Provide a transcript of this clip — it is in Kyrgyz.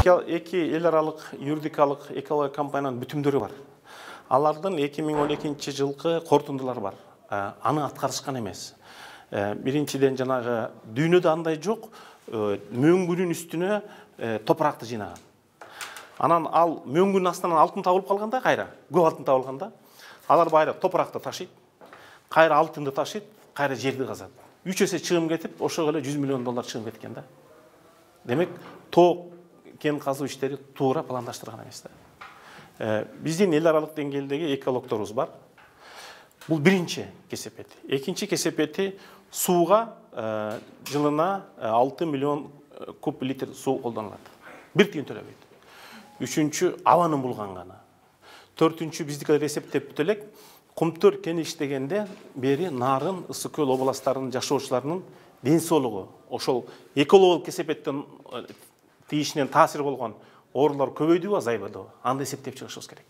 эки эл аралык юридикалык экология компаниянын бүтүмдөрү бар. Алардын 2012 жылкы корутундулары бар. Аны аткарышкан эмес. Биринчиден жанагы дүйнөдө андай жок, мөңгүнүн үстүнө топуракты жыйнаган. Анан ал мөңгүнүн астынан алтын табылып калганда, кайра көп алтын табылганда, алар байра топуракты ташыйт, кайра алтынды ташыйт, кайра жерди казат. 3 эсе чыгым кетип, ошого эле $100 миллион чыгым кеткен да. Демек, тоо кен казуу иштери туура пландаштырган эмес да. Биздин эл аралык деңгээлдеги экологторубуз бар. Бул биринчи кесепети. Экинчи кесепети сууга жылына 6 миллион куб литр суу колдонулат. Бир тиын төлөбөйт. Үчүнчү абанын булганганы. Төртүнчү биздики эсептеп элек, Кумтөр кени иштегенде бери Нарын, Ысык көл областарынын жашоочуларынын ден соолугу, ошол экологиялык кесепеттен тийишинен таасир болгон оорулар көбөйдүбү, азайбадыбы? Аны эсептеп чыгышыбыз керек.